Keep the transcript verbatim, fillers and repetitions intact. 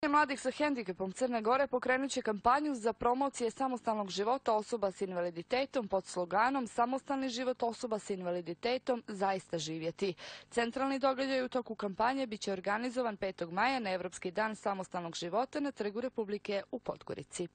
Mladih sa hendikepom Crne Gore pokrenut će kampanju za promocije samostalnog života osoba s invaliditetom pod sloganom Samostalni život osoba s invaliditetom zaista živjeti. Centralni događaj u toku kampanje bit će organizovan petog maja na Europski dan samostalnog života na Trgu Republike u Podgorici.